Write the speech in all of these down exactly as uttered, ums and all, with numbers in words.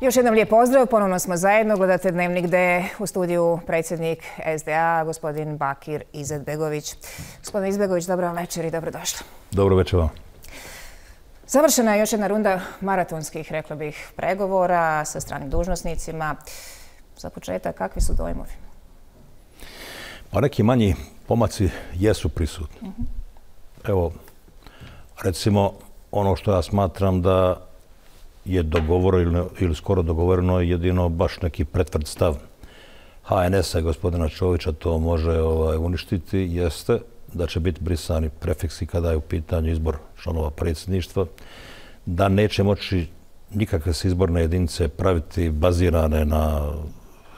Još jedan lijep pozdrav, ponovno smo zajedno, gledate Dnevnik gde u studiju predsjednik S D A, gospodin Bakir Izetbegović. Gospodin Izetbegović, dobro vam večer i dobrodošli. Dobro večer vam. Završena je još jedna runda maratonskih, rekla bih, pregovora sa stranim dužnosnicima. Za početak, kakvi su dojmovi? Pa neki manji pomaci jesu prisutni. Uh-huh. Evo, recimo, ono što ja smatram da je dogovoreno ili skoro dogovoreno jedino baš neki pretvrd stav H N S-a i gospodina Čovića to može ovaj, uništiti, jeste da će biti brisani prefiksi kada je u pitanju izbor članova predsjedništva, da neće moći nikakve se izborne jedinice praviti bazirane na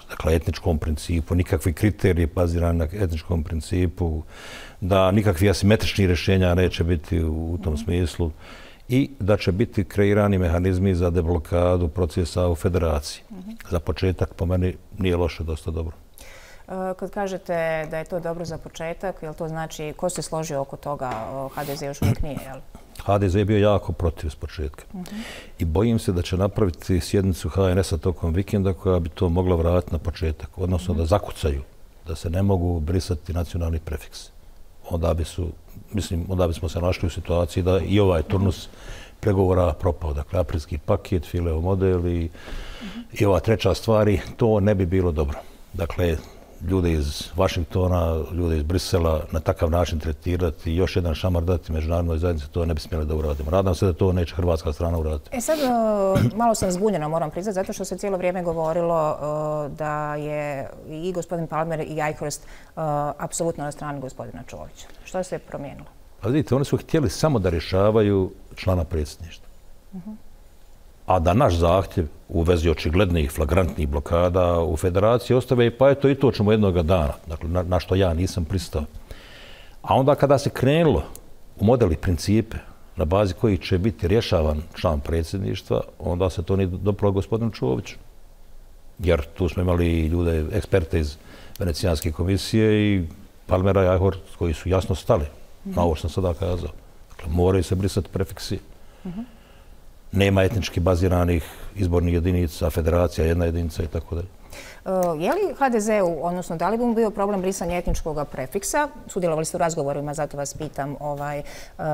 dakle, etničkom principu, nikakvi kriteriji bazirani na etničkom principu, da nikakvi asimetrični rješenja neće biti u tom smislu i da će biti kreirani mehanizmi za deblokadu procesa u federaciji. Mm-hmm. Za početak, po meni, nije loše, dosta dobro. Kad kažete da je to dobro za početak, jel to znači, ko se složio oko toga, H D Z još uvijek nije, jel? H D Z je bio jako protiv s početka. Mm-hmm. I bojim se da će napraviti sjednicu H N S-a tokom vikenda koja bi to mogla vratiti na početak, odnosno mm-hmm. da zakucaju, da se ne mogu brisati nacionalni prefiks. Onda bi su, mislim, onda bismo se našli u situaciji da i ovaj turnus pregovora propao. Dakle, aprilski paket, Fileo model i, mm-hmm. i ova treća stvari, to ne bi bilo dobro. Dakle, ljude iz Vašingtona, ljude iz Brisela na takav način tretirati i još jedan šamar dati međunarodnoj zajednici, to ne bi smjeli da uradimo. Nadam se da to neće hrvatska strana uraditi. E sad, malo sam zbunjena, moram priznati, zato što se cijelo vrijeme govorilo da je i gospodin Palmer i Eichhorst apsolutno na strani gospodina Čovića. Što se je promijenilo? Pa vidite, oni su htjeli samo da rješavaju člana predsjedništva. Uh-huh. A da naš zahtjev u vezi očiglednih flagrantnih blokada u federaciji ostave, pa eto i to ćemo jednoga dana, dakle, na, na što ja nisam pristao. A onda kada se krenulo u modeli principe na bazi koji će biti rješavan član predsjedništva, onda se to nije dopalo gospodinu Čoviću. Jer tu smo imali ljude, eksperte iz Venecijanske komisije i Palmera i Eichhorst koji su jasno stali mm-hmm. na ovo što sam sada kazao. Dakle, moraju se brisati prefiksi. Mm-hmm. Nema etnički baziranih izbornih jedinica, federacija, jedna jedinica i tako dalje. Je li H D Z-u, odnosno da li bi mu bio problem brisanja etničkog prefiksa? Sudjelovali ste u razgovorima, zato vas pitam. Ovaj, uh,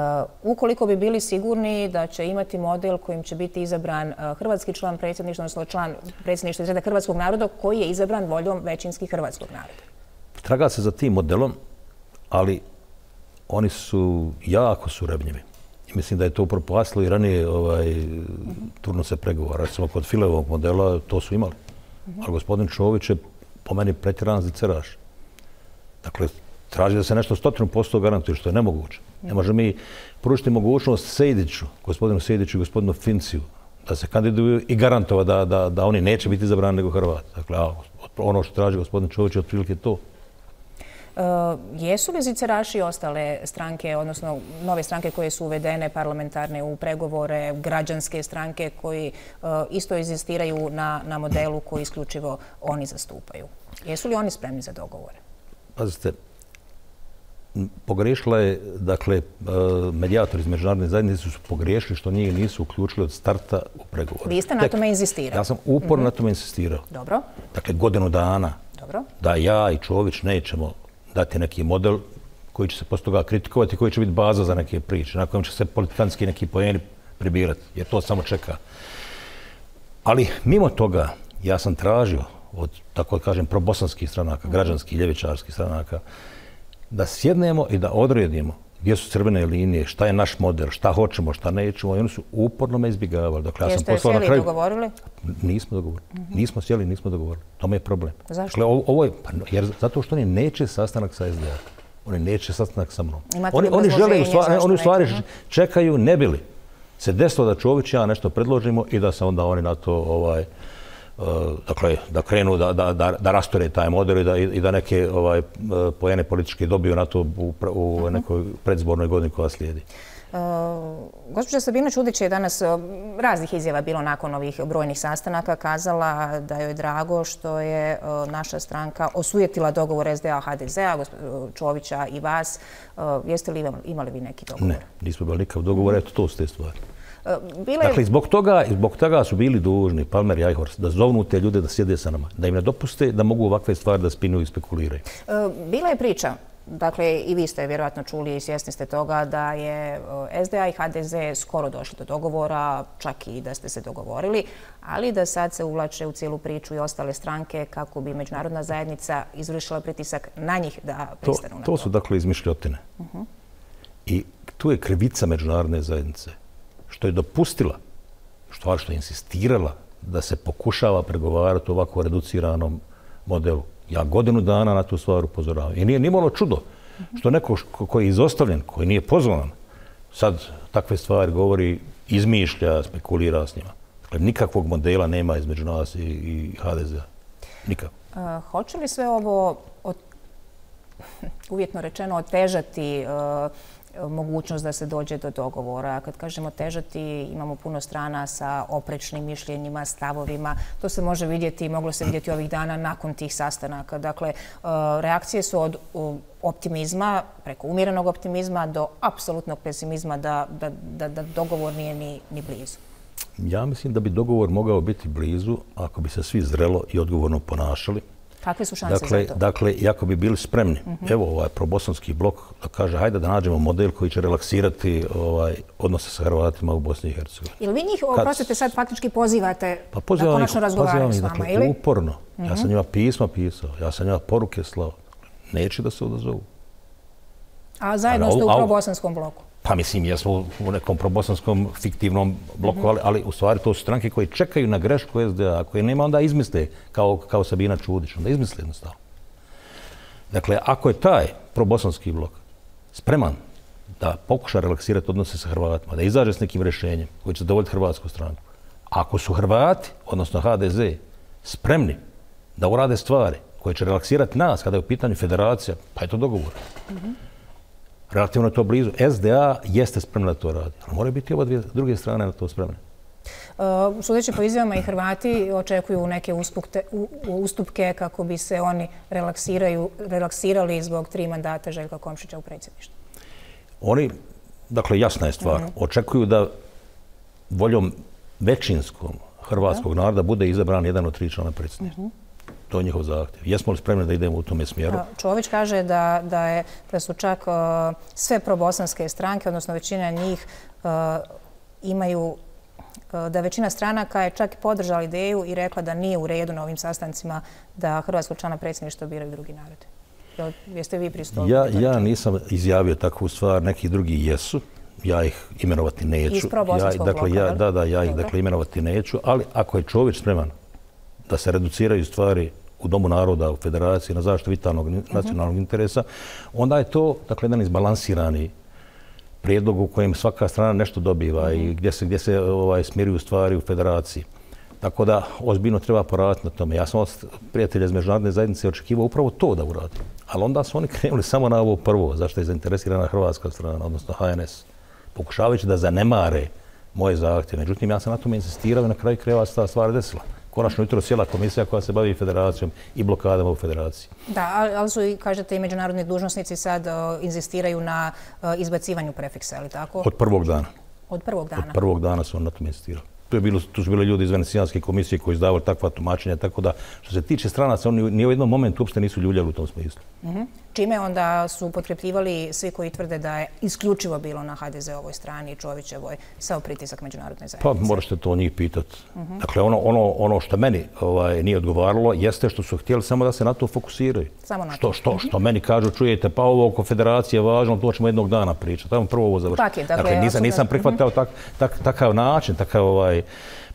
ukoliko bi bili sigurni da će imati model kojim će biti izabran uh, hrvatski član predsjedništva, odnosno član predsjedništva iz reda hrvatskog naroda koji je izabran voljom većinski hrvatskog naroda? Traga se za tim modelom, ali oni su jako surebnjivi. I mislim da je to upropastilo i ranije ovaj, turnuse pregovora. Recimo kod Fileovog modela to su imali. Uh-huh. Ali gospodin Čović je po meni pretjeran ziceraš. Dakle, traži da se nešto stotinu posto garantuje, što je nemoguće. Uh-huh. Ne može mi pružiti mogućnost Sejdiću, gospodinu Sejdiću i gospodinu Finciju, da se kandiduju i garantova da, da, da oni neće biti izabrani nego Hrvati. Dakle, a, ono što traži gospodin Čović je otprilike to. Uh, jesu li ziceraši ostale stranke, odnosno nove stranke koje su uvedene parlamentarne u pregovore, građanske stranke koji uh, isto inzistiraju na, na modelu koji isključivo oni zastupaju? Jesu li oni spremni za dogovore? Pazite, pogriješila je, dakle, medijatori iz međunarodne zajednice su pogriješili što njih nisu uključili od starta u pregovore. Vi ste na tome inzistirali? Ja sam uporno mm-hmm. na tome insistirao. Dobro. Dakle, godinu dana Dobro. Da ja i Čović nećemo dati neki model koji će se posto toga kritikovati, koji će biti baza za neke priče, na kojem će se politikanski neki poeni pribirati, jer to samo čeka. Ali mimo toga, ja sam tražio od, tako da kažem, probosanskih stranaka, građanskih, ljevičarskih stranaka, da sjednemo i da odredimo gdje su crvene linije, šta je naš model, šta hoćemo, šta nećemo, i oni su uporno me izbjegavali. Dakle, ja Jeste sjeli i dogovorili? Nismo dogovorili. Mm-hmm. Nismo sjeli, nismo dogovorili. To je problem. Zašto? Dakle, ovo je, pa, jer zato što oni neće sastanak sa S D A. Oni neće sastanak sa mnom. Imate oni, oni žele, u stvari, oni u stvari čekaju, ne bili se desilo da Čović ja nešto predložimo i da se onda oni na to ovaj, uh, dakle, da krenu da, da, da, da rastore taj model i da, i da neke ovaj, poene političke dobiju na to u, u uh-huh. nekoj predzbornoj godini koja slijedi. Uh, gospođa Sabina Čudić je danas uh, raznih izjava bilo nakon ovih brojnih sastanaka kazala da joj je drago što je uh, naša stranka osujetila dogovor S D A H D Z-a, Čovića i vas. Uh, jeste li imali, imali vi neki dogovor? Ne, nismo imali nikakav dogovor, eto to su te stvari. Bile... Dakle, zbog toga, zbog toga su bili dužni, Palmer i Eichhorst, da zovnu te ljude da sjede sa nama, da im ne dopuste da mogu ovakve stvari da spinuju i spekuliraju. Bila je priča, dakle i vi ste vjerojatno čuli i svjesni ste toga da je S D A i H D Z skoro došli do dogovora, čak i da ste se dogovorili, ali da sad se uvlače u cijelu priču i ostale stranke kako bi međunarodna zajednica izvršila pritisak na njih da pristanu na to. To su dakle izmišljotine. Uh-huh. I tu je krivica međunarodne zajednice što je dopustila, što, što je insistirala da se pokušava pregovarati o ovako reduciranom modelu. Ja godinu dana na tu stvar upozoravam. I nije nimalo čudo što neko koji je izostavljen, koji nije pozvan, sad takve stvari govori, izmišlja, spekulira s njima. Dakle, nikakvog modela nema između nas i, i H D Z-a. Nikako. Uh, hoće li sve ovo, od, uvjetno rečeno, otežati uh, mogućnost da se dođe do dogovora? Kad kažemo težati, imamo puno strana sa oprečnim mišljenjima, stavovima. To se može vidjeti i moglo se vidjeti ovih dana nakon tih sastanaka. Dakle, reakcije su od optimizma, preko umjerenog optimizma, do apsolutnog pesimizma da, da, da, da dogovor nije ni, ni blizu. Ja mislim da bi dogovor mogao biti blizu ako bi se svi zrelo i odgovorno ponašali. Kakve su šanse dakle, za to? Dakle, i ako bi bili spremni, uh-huh. evo ovaj probosanski blok da kaže hajde da nađemo model koji će relaksirati ovaj, odnose sa Hrvatima u Bosni i Hercegovini. Ili vi njih, oprostite, sad faktički pozivate pa da konačno razgovaraju s vama, dakle, ili? Uporno. Uh-huh. Ja sam njima pisma pisao, ja sam njima poruke slao. Neće da se odazovu. A zajedno ste u probosanskom bloku? Pa mislim, jesmo u nekom probosanskom fiktivnom bloku, ali, ali u stvari to su stranke koje čekaju na grešku S D A, koje nema onda izmisle kao, kao Sabina Čudić, onda izmisle jednostavno. Dakle, ako je taj probosanski blok spreman da pokuša relaksirati odnose sa Hrvatima, da izađe s nekim rješenjem koji će zadovoljiti hrvatsku stranku, ako su Hrvati, odnosno H D Z, spremni da urade stvari koje će relaksirati nas kada je u pitanju federacija, pa je to dogovor. Mm-hmm. Relativno je to blizu. S D A jeste spremna da to radi. Ali moraju biti oba dvije druge strane na to spremne. Uh, sudeći po izjavama i Hrvati očekuju neke uspukte, u, ustupke kako bi se oni relaksiraju, relaksirali zbog tri mandata Željka Komšića u predsjedništvu. Oni, dakle jasna je stvar, uh-huh. očekuju da voljom većinskom hrvatskog uh-huh. naroda bude izabran jedan od tri člana predsjedništva. Uh-huh. To je njihov zahtjev. Jesmo li spremni da idemo u tome smjeru? Čović kaže da, da, je, da su čak uh, sve probosanske stranke, odnosno većina njih uh, imaju, uh, da većina stranaka je čak podržala ideju i rekla da nije u redu na ovim sastancima da hrvatskog člana predsjedništva biraju drugi narodi. Jeste vi pristupili? Ja, ja nisam izjavio takvu stvar, neki drugi jesu. Ja ih imenovati neću. Iz probosanskog ja, dakle, bloka, ja, Da, da, ja ih dakle, imenovati neću, ali ako je Čović spreman da se reduciraju stvari u Domu naroda, u Federaciji, na zaštitu vitalnog nacionalnog interesa, onda je to dakle, jedan izbalansirani prijedlog u kojem svaka strana nešto dobiva i gdje se, gdje se ovaj, smiruju stvari u Federaciji. Tako da ozbiljno treba poraditi na tome. Ja sam od prijatelja iz međunarodne zajednice očekivao upravo to da uradi. Ali onda su oni krenuli samo na ovo prvo, zašto je zainteresirana hrvatska strana, odnosno H N S, pokušavajući da zanemare moje zahtjeve. Međutim, ja sam na tome insistirao i na kraju krajeva se ta stvar desila. Konačno jutro sjela komisija koja se bavi federacijom i blokadama u federaciji. Da, ali su, kažete, i međunarodni dužnosnici sad uh, inzistiraju na uh, izbacivanju prefiksa, je li tako? Od prvog dana. Od prvog dana? Od prvog dana su on na tome insistirali. Tu, je bilo, tu su bili ljudi iz Venecijanske komisije koji izdavali takva tumačenja, tako da što se tiče stranaca, oni ni u jednom momentu uopšte nisu ljuljali u tom smislu. Mm-hmm. Čime onda su potkrepljivali svi koji tvrde da je isključivo bilo na H D Z-ovoj strani i Čovićevoj sav pritisak međunarodne zajednice? Pa možete to njih pitati. Mm-hmm. Dakle, ono, ono, ono što meni ovaj, nije odgovaralo jeste što su htjeli samo da se na to fokusiraju. Samo na to. Što, što, što meni kažu, čujete, pa ovo oko federacije je važno, to ćemo jednog dana pričati. Tamo prvo ovo završiti. Dakle, dakle, nisam, nisam prihvatao mm-hmm. tak, tak, takav način, takav ovaj,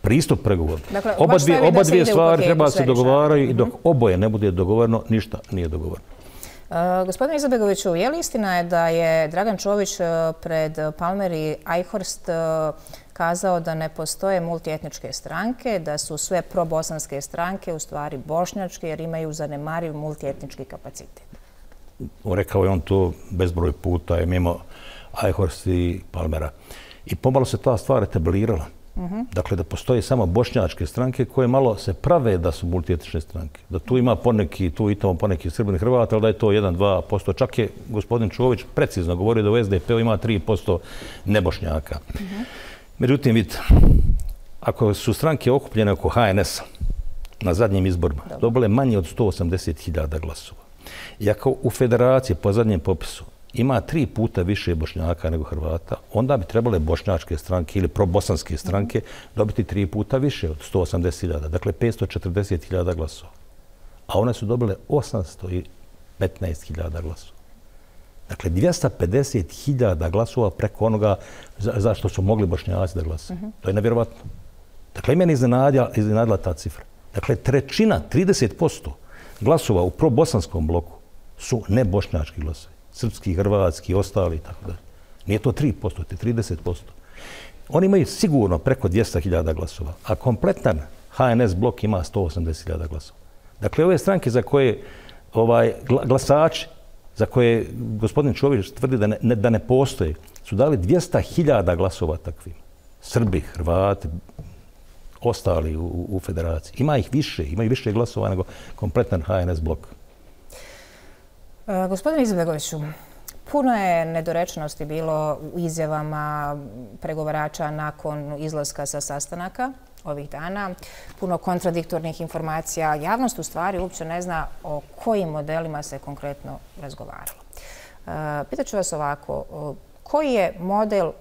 pristup pregovora. Dakle, oba dvije, oba dvije stvari treba se dogovaraju mm-hmm. i dok oboje ne bude dogovoreno, ništa nije dogovoreno. Uh, gospodine Izetbegoviću, je li istina je da je Dragan Čović uh, pred Palmer i Eichhorst uh, kazao da ne postoje multietničke stranke, da su sve probosanske stranke u stvari bošnjačke jer imaju zanemariv multietnički kapacitet? Rekao je on to bezbroj puta, je mimo Eichhorst i Palmera. I pomalo se ta stvar etablirala. Mm-hmm. Dakle, da postoje samo bošnjačke stranke koje malo se prave da su multietnične stranke. Da tu ima poneki, tu i tamo poneki Srbini Hrvata, ali da je to jedan do dva posto. Čak je gospodin Čović precizno govorio da u S D P-u ima tri posto nebošnjaka. Mm-hmm. Međutim, vidite, ako su stranke okupljene oko H N S-a na zadnjim izborima, dobile manje od sto osamdeset hiljada glasova. I ako u federaciji po zadnjem popisu ima tri puta više Bošnjaka nego Hrvata, onda bi trebale bošnjačke stranke ili probosanske stranke dobiti tri puta više od sto osamdeset hiljada, dakle petsto četrdeset hiljada glasova. A one su dobile osamsto petnaest hiljada glasova. Dakle, dvjesto pedeset hiljada glasova preko onoga zašto su mogli Bošnjaci da glasuju. To je nevjerovatno. Dakle, i meni iznenadila ta cifra. Dakle, trećina, trideset posto glasova u probosanskom bloku su nebošnjački glasovi. Srpski, hrvatski, ostali i tako dalje. Nije to tri posto, to je trideset posto. Oni imaju sigurno preko dvjesto hiljada glasova, a kompletan H N S blok ima sto osamdeset hiljada glasova. Dakle, ove stranke za koje ovaj, glasači, za koje gospodin Čović tvrdi da ne, da ne postoje, su dali dvjesto hiljada glasova takvim. Srbi, Hrvati, ostali u, u federaciji. Ima ih više, imaju više glasova nego kompletan H N S blok. E, gospodine Izetbegoviću, puno je nedorečenosti bilo u izjavama pregovarača nakon izlaska sa sastanaka ovih dana. Puno kontradiktornih informacija. Javnost u stvari uopće ne zna o kojim modelima se konkretno razgovaralo. E, pitaću vas ovako, koji je model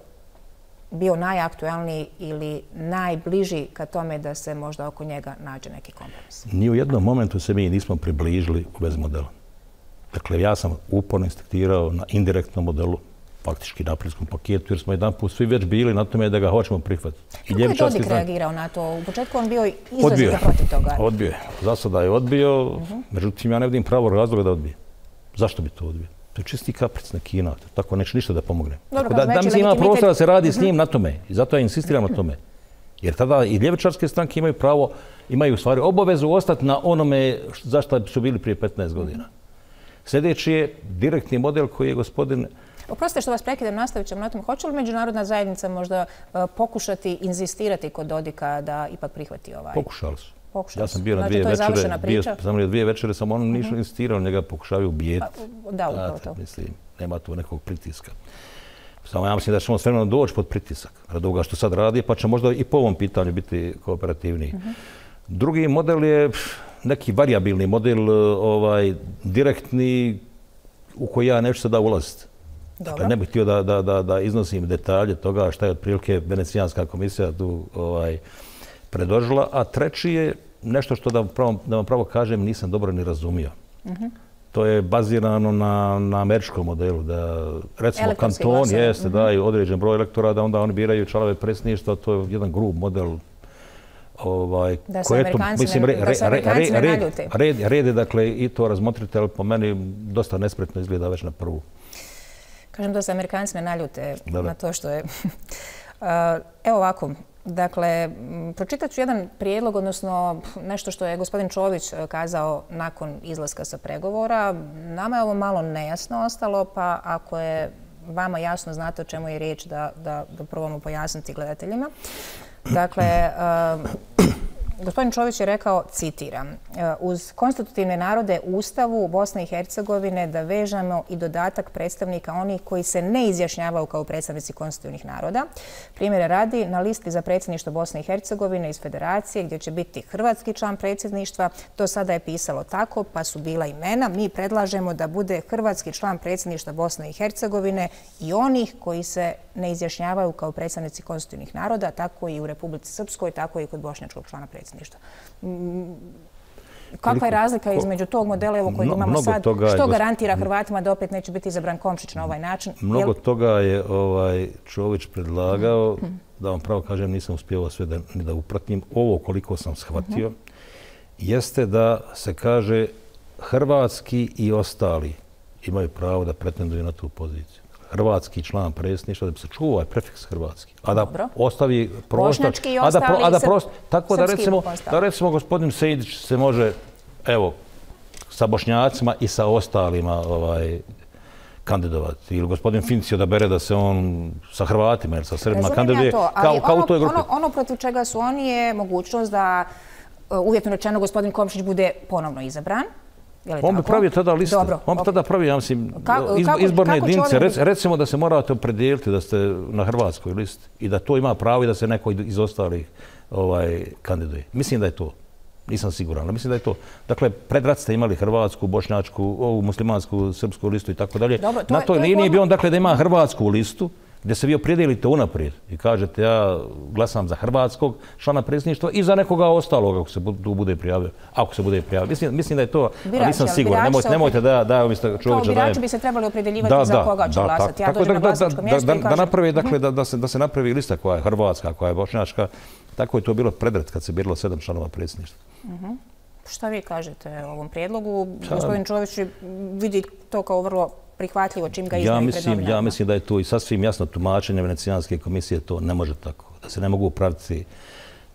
bio najaktuelniji ili najbliži ka tome da se možda oko njega nađe neki kompromis? Ni u jednom momentu se mi nismo približili u bez modela. Dakle, ja sam uporno insistirao na indirektnom modelu, faktički naprijskom paketu, jer smo jedan put svi već bili na tome da ga hoćemo prihvatiti. Kako je Dodik reagirao na to? U početku on bio izrazito protiv toga. Odbio je. Za sada je odbio, međutim ja ne vidim pravo razloga da odbije. Zašto bi to odbio? To je čisti kapric na Kina. Tako neće ništa da pomogne. Dobro, da, da mi se ima prostor da se radi s njim na tome. I zato ja insistiram na tome. Jer tada i ljevičarske stranke imaju pravo, imaju u stvari obavezu ostati na onome zašto su bili prije petnaest godina. Sljedeći je direktni model koji je gospodin... Oprostite što vas prekidam, nastavit ćemo na tom. Hoće li međunarodna zajednica možda pokušati inzistirati kod Dodika da ipak prihvati ovaj? Pokušali su. Pokušali ja sam bio na dvije znači, večere, bio sam na dvije večere, samo ono nisu insistirali, njega pokušavaju ubijeti. Pa, da, upravo to. Mislim, nema tu nekog pritiska. Samo ja mislim da ćemo s vremenom doći pod pritisak radi ovoga što sad radi, pa će možda i po ovom pitanju biti kooperativniji. Uh -huh. Drugi model je neki variabilni model, ovaj, direktni, u koji ja neću sada ulaziti. Dakle, ne bih htio da, da, da, da iznosim detalje toga šta je otprilike Venecijanska komisija tu ovaj, predložila, a treći je nešto što da, pravo, da vam pravo kažem nisam dobro ni razumio. Uh-huh. To je bazirano na, na američkom modelu, da recimo kanton jeste, uh-huh. daju određen broj elektora, da onda oni biraju članove predsjedništva, to je jedan grub model. Ovaj, da se Amerikanci ne, re, re, re, ne naljute. Red, red je, dakle, i to razmotrite, ali po meni dosta nespretno izgleda već na prvu. Kažem da se Amerikanci ne naljute da, da. na to što je... Evo ovako, dakle, pročitat ću jedan prijedlog, odnosno nešto što je gospodin Čović kazao nakon izlaska sa pregovora. Nama je ovo malo nejasno ostalo, pa ako je vama jasno, znate o čemu je riječ, da, da, da probamo pojasniti gledateljima. Dakle, gospodin Čović je rekao, citiram, uz konstitutivne narode u Ustavu Bosne i Hercegovine da vežemo i dodatak predstavnika onih koji se ne izjašnjavaju kao predstavnici konstitutivnih naroda. Primjera radi, na listi za predsjedništvo Bosne i Hercegovine iz Federacije, gdje će biti hrvatski član predsjedništva, to sada je pisalo tako, pa su bila imena. Mi predlažemo da bude hrvatski član predsjedništva Bosne i Hercegovine i onih koji se ne izjašnjavaju kao predstavnici konstitutivnih naroda, tako i u Republici Srpskoj, tako i kod bošnjačkog člana predsjedništva. Kakva je razlika između tog modela evo koji imamo sad? Što garantira Hrvatima da opet neće biti izabran Komšić na ovaj način? Mnogo toga je ovaj Čović predlagao, da vam pravo kažem, nisam uspjevao sve da, da upratim. Ovo koliko sam shvatio, jeste da se kaže hrvatski i ostali imaju pravo da pretenduju na tu poziciju. Hrvatski član predsjedništva, da bi se čuo ovaj prefiks hrvatski. A da Dobro. ostavi prostor... Bošnjački i ostali, a da, a da prost, tako da recimo, da recimo gospodin Sejdić se može, evo, sa Bošnjacima i sa ostalima ovaj, kandidovati. Ili gospodin Fincio da bere da se on sa Hrvatima ili sa Srbima kandiduje. Ja kao, kao ono, u toj grupi. Ono, ono protiv čega su oni je mogućnost da, uvjetno rečeno, gospodin Komšić bude ponovno izabran. On bi pravio tada liste. Dobro, on bi tada pravio, ja mislim, Kako- izbo- kako- izborne kako će jedinice. ovim- Rec- Recimo da se morate opredijeliti da ste na hrvatskoj listi i da to ima pravo i da se neko iz ostalih ovaj, kandiduje. Mislim da je to. Nisam siguran, ali mislim da je to. Dakle, pred rat ste imali hrvatsku, bošnjačku, ovu muslimansku, srpsku listu i tako dalje. Dobro, to Na je- toj to je liniji forma- bi on, dakle, da ima hrvatsku listu, gdje se vi opredijelite unaprijed i kažete ja glasam za hrvatskog člana predsjedništva i za nekoga ostaloga ako se bu- tu bude prijavio. Ako se bude prijavio. Mislim, mislim da je to, ali Birači, nisam ali siguran. birači Nemojte, se nemojte da, da umjesto Kao čovječa dajem. birači bi se trebali opredjeljivati za koga će glasati. Ja tako dođem da- na da- glasačko da- mjesto da- i da kažem... napravi, dakle, da, da, se, da se napravi lista koja je hrvatska, koja je bošnjačka. Tako je to bilo predret kad se biralo sedam članova predsjedništva. Šta vi kažete o ovom prijedlogu? Gospodin Čović vidi to kao vrlo prihvatljivo čim ga Ja iznaju pred mislim, ja novinarima. mislim da je to i sasvim jasno tumačenje Venecijanske komisije, to ne može tako. Da se ne mogu praviti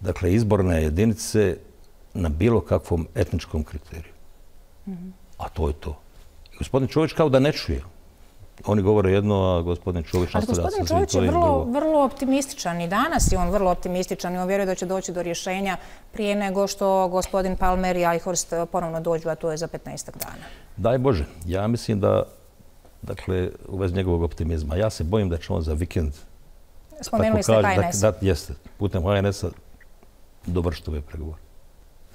dakle, izborne jedinice na bilo kakvom etničkom kriteriju. A to je to. I gospodin Čović kao da ne čuje. Oni govore jedno, a gospodin Čović Ali nastavlja gospodin sa Čović je svojim vrlo, drugo. vrlo optimističan i danas je on vrlo optimističan i on vjeruje da će doći do rješenja prije nego što gospodin Palmer i Eichhorst ponovno dođu, a to je za petnaestak dana. Daj Bože, ja mislim da, dakle, u vezi njegovog optimizma, ja se bojim da će on za vikend, Spomenuli ste tako H kaže, N S. Da, da, jeste, putem H N S-a dovršiti ove pregovore.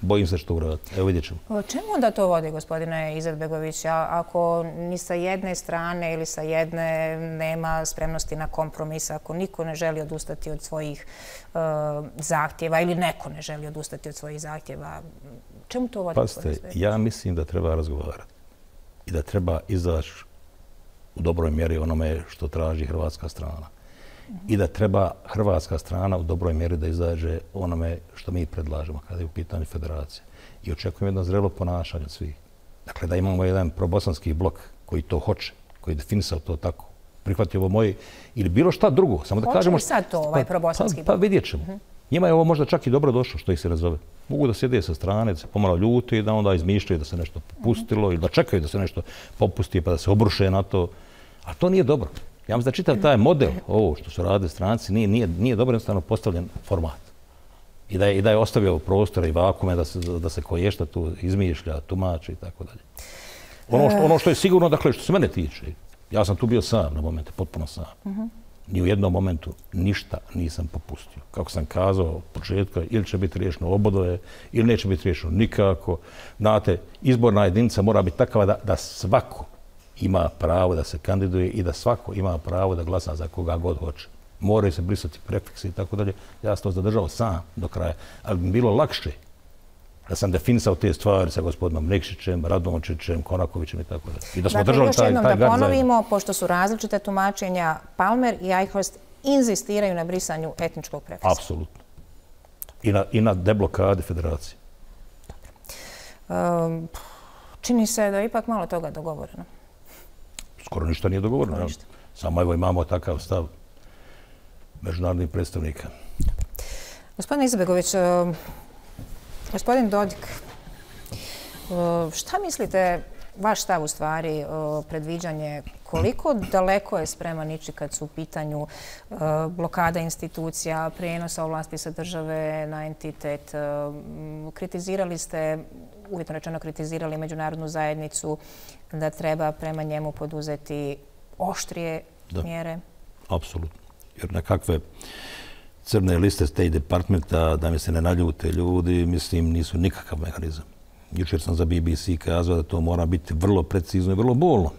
Bojim se što uraditi. Evo vidjet ćemo. O čemu onda to vodi, gospodine Izetbegović? A- Ako ni sa jedne strane ili sa jedne nema spremnosti na kompromis, ako niko ne želi odustati od svojih e, zahtjeva ili neko ne želi odustati od svojih zahtjeva, čemu to vodi? Pazite, gospodine Stojiljković? ja mislim da treba razgovarati i da treba izaći u dobroj mjeri onome što traži hrvatska strana. I da treba hrvatska strana u dobroj mjeri da izađe onome što mi predlažemo kada je u pitanju federacije. I očekujem jedno zrelo ponašanje od svih. Dakle, da imamo jedan probosanski blok koji to hoće, koji je definisao to tako, prihvatio ovo moje ili bilo šta drugo. Samo da Hoće kažemo, li sad to ovaj probosanski pa, pa, blok? pa vidjet ćemo. Njima je ovo možda čak i dobro došlo što ih se razove. Mogu da sjede sa strane, da se pomalo ljuti, da onda izmišljaju da se nešto popustilo ili da čekaju da se nešto popusti pa da se obruše na to. A to nije dobro. Ja mislim da čitav taj model, ovo što su radili stranci, nije, nije, nije dobro jednostavno postavljen format. I da je, i da je ostavio prostora i vakume da se, da se koješta tu izmišlja, tumači i tako dalje. Ono što, ono što je sigurno, dakle, što se mene tiče, ja sam tu bio sam na momente, potpuno sam. Ni u jednom momentu ništa nisam popustio. Kako sam kazao od početka, ili će biti riješeno obodoje, ili neće biti riješeno nikako. Znate, izborna jedinica mora biti takva da, da svako ima pravo da se kandiduje i da svako ima pravo da glasa za koga god hoće. Moraju se brisati prefiksi i tako dalje. Ja sam to zadržao sam do kraja. Ali bi bilo lakše da sam definisao te stvari sa gospodinom Nikšićem, Radončićem, Konakovićem i tako dalje. I da smo Dakle, držali još taj, jednom taj da gard zajedno. ponovimo, pošto su različite tumačenja, Palmer i Eichhorst inzistiraju na brisanju etničkog prefiksa. Apsolutno. I na, i na deblokadi federacije. Um, čini se da je ipak malo toga dogovoreno. Skoro ništa nije dogovoreno. Ništa. Samo evo imamo takav stav međunarodnih predstavnika. Gospodin Izetbegović, um, gospodin Dodik, um, šta mislite, vaš stav u stvari, um, predviđanje, koliko daleko je spreman ići kad su u pitanju um, blokada institucija, prijenosa ovlasti sa države na entitet? Um, Kritizirali ste, uvjetno rečeno kritizirali međunarodnu zajednicu da treba prema njemu poduzeti oštrije Da. mjere? Apsolutno. Jer nekakve crne liste State Departmenta, da mi se ne naljute ljudi, mislim, nisu nikakav mehanizam. Jučer sam za B B C kazao da to mora biti vrlo precizno i vrlo bolno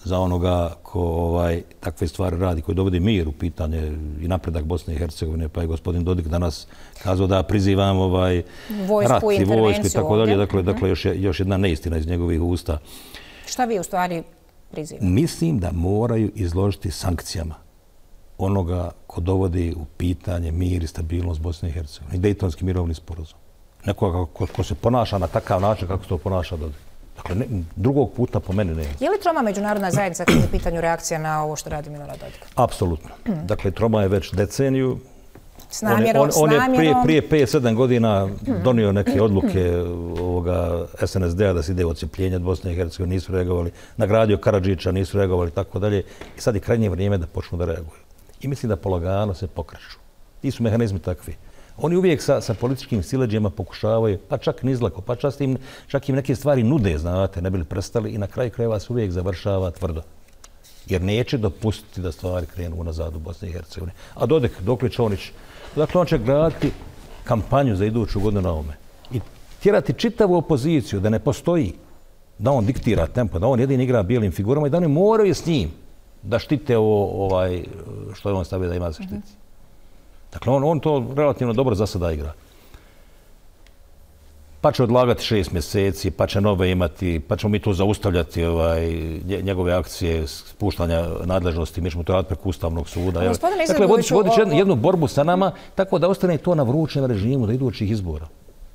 za onoga ko ovaj, takve stvari radi, koji dovodi mir u pitanje i napredak Bosne i Hercegovine, pa je gospodin Dodik danas kazao da prizivam ovaj Vojsku, rat i vojsku i intervenciju tako dalje. ovdje. Dakle, dakle još, je, još jedna neistina iz njegovih usta. Šta vi u stvari prizivate? Mislim da moraju izložiti sankcijama onoga ko dovodi u pitanje mir i stabilnost Bosne i Hercegovine. I Dejtonski mirovni sporazum. Nekoga ko, ko se ponaša na takav način kako se to ponaša Dodik. Dakle, ne, drugog puta po meni nema. Je li troma međunarodna zajednica kad je u pitanju reakcija na ovo što radi Milorad Dodik? Apsolutno. Dakle, troma je već deceniju. S namjerom, on, on, on s je namjerom... prije, prije pet sedam godina donio neke odluke ovoga S N S D-a da se ide u odcepljenje od Bosne i Hercegovine, nisu reagovali. Nagradio Karadžića, nisu reagovali i tako dalje. I sad je krajnje vrijeme da počnu da reaguju. I mislim da polagano se pokreću. Ti su mehanizmi takvi. Oni uvijek sa, sa političkim sileđima pokušavaju, pa čak nizlako, pa čak im, čak im neke stvari nude, znate, ne bi li prestali i na kraju krajeva se uvijek završava tvrdo. Jer neće dopustiti da stvari krenu unazad u Bosni i Hercegovini. A Dodik, dokle će Čonić, dakle on će graditi kampanju za iduću godinu na ovome. I tjerati čitavu opoziciju da ne postoji, da on diktira tempo, da on jedin igra bijelim figurama i da oni moraju s njim da štite ovo, ovaj, što je on stavio da ima za štiti. Dakle, on, on to relativno dobro za sada igra. Pa će odlagati šest mjeseci, pa će nove imati, pa ćemo mi tu zaustavljati ovaj, njegove akcije spuštanja nadležnosti, mi ćemo to raditi preko Ustavnog suda. Dakle, vodiš, vodiš jednu, jednu borbu sa nama, tako da ostane to na vrućem režimu do idućih izbora.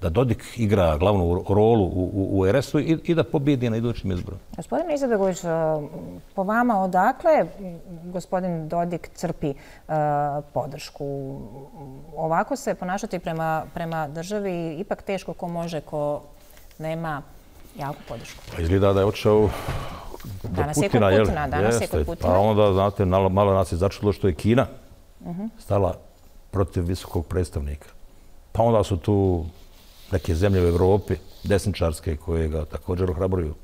Da Dodik igra glavnu rolu u, u, u R S U i, i da pobjedi na idućim izborima. Gospodine Izetbegović, po vama odakle gospodin Dodik crpi uh, podršku? Ovako se ponašati prema, prema državi ipak teško ko može, ko nema jaku podršku. Pa izgleda da je otišao do danas Putina. Je kod Putina danas jeste, je kod Putina. Pa onda, znate, malo, malo nas je začudilo što je Kina uh-huh. stala protiv visokog predstavnika. Pa onda su tu neke zemlje u Evropi, desničarske, koje ga također ohrabruju.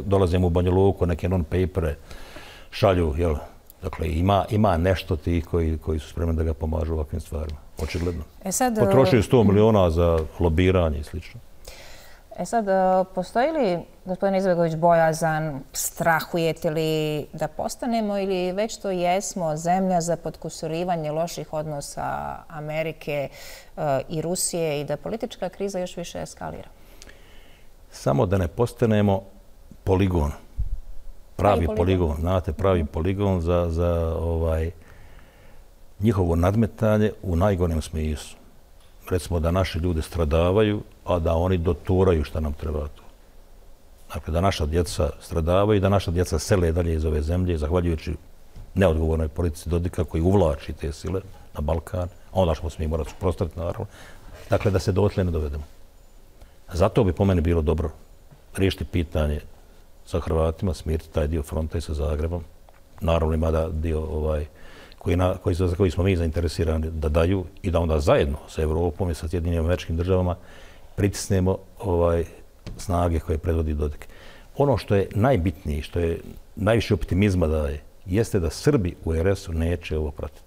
Dolaze mu u Banja Luku, neke non-papere šalju. Jel? Dakle, ima, ima nešto tih koji, koji su spremni da ga pomažu u ovakvim stvarima. Očigledno. E sad, potrošio sto miliona za lobiranje i slično. E sad, postoji li, gospodin Izetbegović, bojazan, strahujete li da postanemo ili već to jesmo zemlja za potkusurivanje loših odnosa Amerike i Rusije i da politička kriza još više eskalira? Samo da ne postanemo poligon. Pravi poligon. poligon, znate, pravi poligon za, za ovaj, njihovo nadmetanje u najgorem smislu. Recimo da naši ljudi stradavaju, a da oni doturaju šta nam treba tu. Dakle, da naša djeca stradavaju i da naša djeca sele dalje iz ove zemlje, zahvaljujući neodgovornoj politici Dodika koji uvlači te sile na Balkan, a onda ćemo se mi morati suprotstaviti, naravno. Dakle, da se dotle ne dovedemo. Zato bi po meni bilo dobro riješiti pitanje sa Hrvatima, smiriti taj dio fronta i sa Zagrebom. Naravno ima da dio ovaj, koji, na, koji, za koji smo mi zainteresirani da daju i da onda zajedno sa Evropom i sa Sjedinjenim Američkim Državama pritisnemo ovaj, snage koje predvodi Dodik. Ono što je najbitnije, što je najviše optimizma daje, jeste da Srbi u R S U neće ovo pratiti.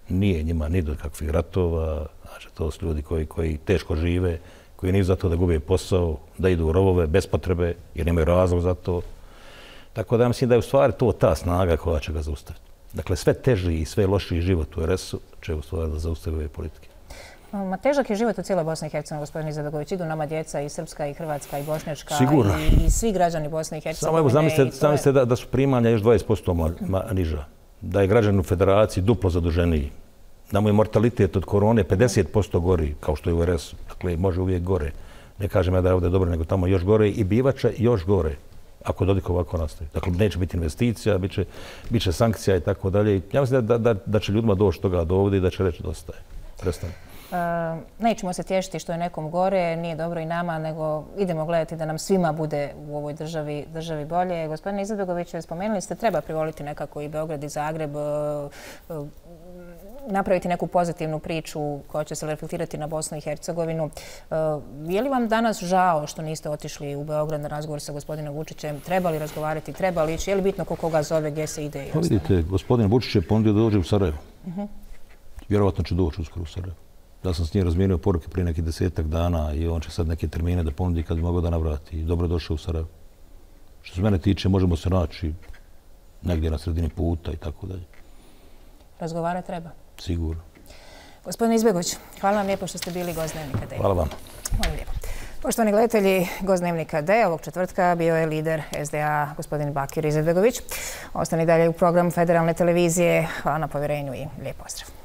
Nije njima ni do kakvih ratova, znači to su ljudi koji, koji teško žive, koji nisu za to da gube posao, da idu u rovove bez potrebe jer nemaju razlog za to. Tako da ja mislim da je u stvari to ta snaga koja će ga zaustaviti. Dakle, sve teži i sve lošiji život u R S U će u stvari da zaustavi ove politike. Ma težak je život u cijeloj Bosni i Hercegovini, gospodin Izetbegović. Idu nama djeca i srpska, i hrvatska, i bošnjačka, i, i svi građani Bosne i Hercegovine. Samo evo, zamislite, zamislite je... da, da su primanja još dvadeset posto niža. Da je građan u federaciji duplo zaduženiji. Da mu je mortalitet od korone pedeset posto gori, kao što je u R S U. Dakle, može uvijek gore. Ne kažem ja da je ovdje dobro, nego tamo još gore i bivače još gore. Ako Dodik ovako nastavi. Dakle, neće biti investicija, bit će, bit će sankcija i tako dalje. Ja mislim da, da, da će ljudima doći toga do ovdje i da će reći dosta je. Prestane. Uh, nećemo se tješiti što je nekom gore, nije dobro i nama, nego idemo gledati da nam svima bude u ovoj državi, državi bolje. Gospodine Izetbegović, spomenuli ste, treba privoliti nekako i Beograd i Zagreb, uh, uh, napraviti neku pozitivnu priču koja će se reflektirati na Bosnu i Hercegovinu. Uh, je li vam danas žao što niste otišli u Beograd na razgovor sa gospodinom Vučićem? Treba li razgovarati, treba li ići? Je li bitno ko koga zove, gdje se ide? Pa vidite, gospodin Vučić je ponudio da dođe u Sarajevo. Uh-huh. Vjerovatno će doći uskoro u Sarajevo. Ja sam s njim razmijenio poruke prije nekih desetak dana i on će sad neke termine da ponudi kad bi mogao da navrati. I dobro došao u Sarajevo. Što se mene tiče, možemo se naći negdje na sredini puta i tako dalje. Razgovara treba? Sigurno. Gospodin Izetbegović, hvala vam lijepo što ste bili gost Dnevnika D. Hvala vam. Hvala lijepo. Poštovani gledatelji, gost Dnevnika D ovog četvrtka bio je lider S D A, gospodin Bakir Izetbegović. Ostani dalje u programu Federalne televizije. Hvala na povjerenju i lijep pozdrav.